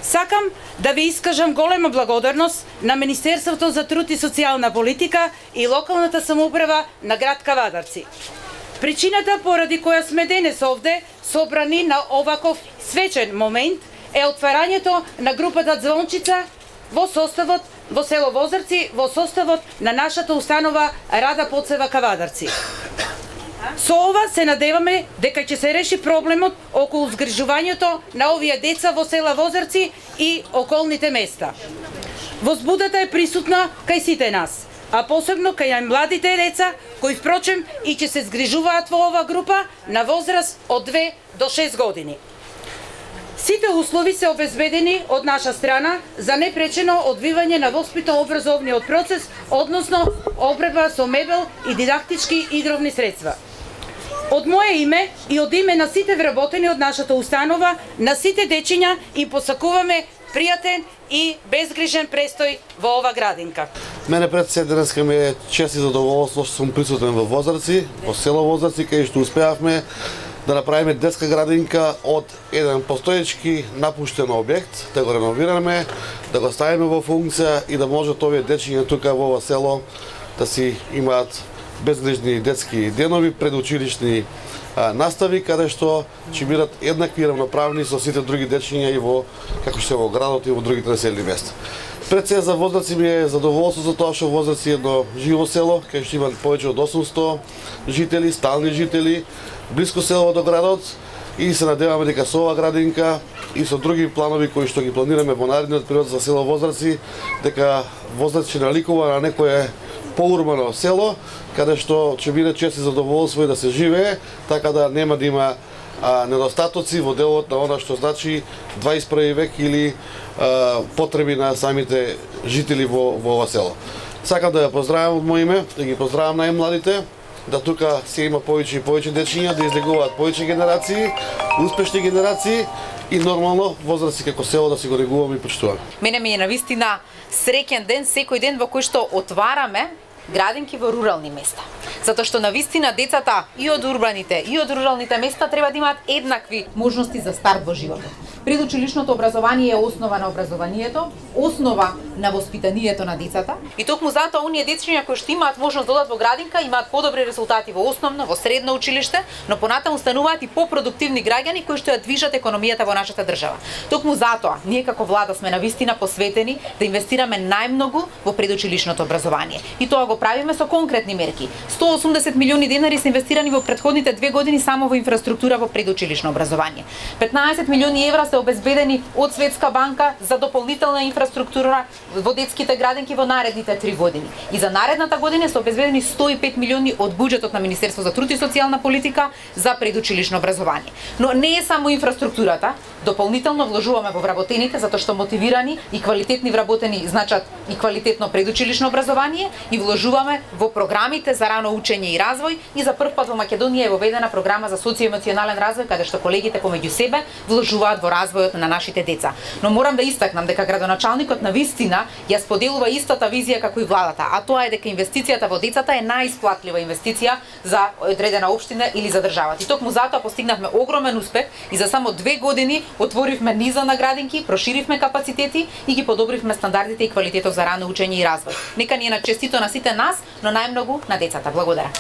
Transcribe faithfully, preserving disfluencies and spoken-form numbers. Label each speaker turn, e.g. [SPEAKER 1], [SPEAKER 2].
[SPEAKER 1] Сакам да ви искажам голема благодарност на Министерството за труд и социјална политика и локалната самоуправа на град Кавадарци. Причината поради која сме денес овде собрани на оваков свечен момент е отварањето на групата Звончица во составот во село Возарци, во составот на нашата установа Рада Поцева Кавадарци. Со ова се надеваме дека ќе се реши проблемот околу згрижувањето на овие деца во села Возарци и околните места. Возбудата е присутна кај сите нас, а посебно кај најмладите деца, кои впрочем и ќе се згрижуваат во ова група на возраст од две до шест години. Сите услови се обезбедени од наша страна за непречено одвивање на воспитно-образовниот процес, односно обредба со мебел и дидактички игровни средства. Од мое име и од име на сите вработени од нашата установа, на сите дечиња им посакуваме пријатен и безгрижен престој во ова градинка.
[SPEAKER 2] Мене пред се денеска ми е чест и задоволство што сум присутен во Возарци, во село Возарци, кај што успеавме да направиме детска градинка од еден постоечки напуштен објект, да го реновираме, да го ставиме во функција и да можат овие дечиња тука во ова село да си имаат безгрижни детски денови, предучилишни а, настави, каде што ќе бидат еднакви и равноправни со сите други дечиња и во како што е во градот и во другите населени места. Пред се за Возарци ми е задоволство за тоа што Возарци е едно живо село, кај што има повеќе од осумсто жители, стални жители, блиско село до градот, и се надеваме дека со ова градинка и со други планови кои што ги планираме во наредниот период за село Возарци, дека Возарци ќе наликува на некое поурбано село, каде што ќе биде чест и задоволство и да се живее, така да нема да има а, недостатоци во делот на она што значи дваесет и први век или а, потреби на самите жители во, во ова село. Сакам да ја поздравам од моје име, да ги поздравам најмладите, да тука се има повеќе и повеќе дечиња, да излегуваат повеќе генерации, успешни генерации и нормално Возарци како село да си го негуваме и почитуваме.
[SPEAKER 3] Мене ми е навистина среќен ден секој ден во кој што отвараме градинки во рурални места. Затоа што навистина децата и од урбаните и од руралните места треба да имаат еднакви можности за старт во животот. Предучилишното образование е основа на образованието, основа на воспитанието на децата. И токму затоа оние дечиња кои што имаат можност да одат во градинка имаат подобри резултати во основно, во средно училиште, но понатаму стануваат и попродуктивни граѓани кои што ја движат економијата во нашата држава. Токму затоа ние како влада сме навистина посветени да инвестираме најмногу во предучилишното образование. И тоа го правиме со конкретни мерки. сто и осумдесет милиони денари се инвестирани во претходните две години само во инфраструктура во предучилишно образование. петнаесет милиони евра се обезбедени од Светска банка за дополнителна инфраструктура во детските градинки во наредните три години. И за наредната година се обезбедени сто и пет милиони од буџетот на Министерството за труд и социјална политика за предучилишно образование. Но не е само инфраструктурата, дополнително вложуваме во вработените затоа што мотивирани и квалитетни вработени значат и квалитетно предучилишно образование, и вложуваме во програмите за рано учење и развој, и за прв пат во Македонија е воведена програма за социјоемоционален развој каде што колегите помеѓу себе вложуваат во развојот на нашите деца. Но морам да истакнам дека градоначалникот на вистина ја споделува истата визија како и владата, а тоа е дека инвестицијата во децата е најисплатлива инвестиција за одредена општина или за државата. И токму затоа постигнавме огромен успех и за само две години отворивме низа на градинки, проширивме капацитети и ги подобривме стандардите и квалитетот за рано учење и развој. Нека ни е на честито на сите нас, но најмногу на децата. Благодарам.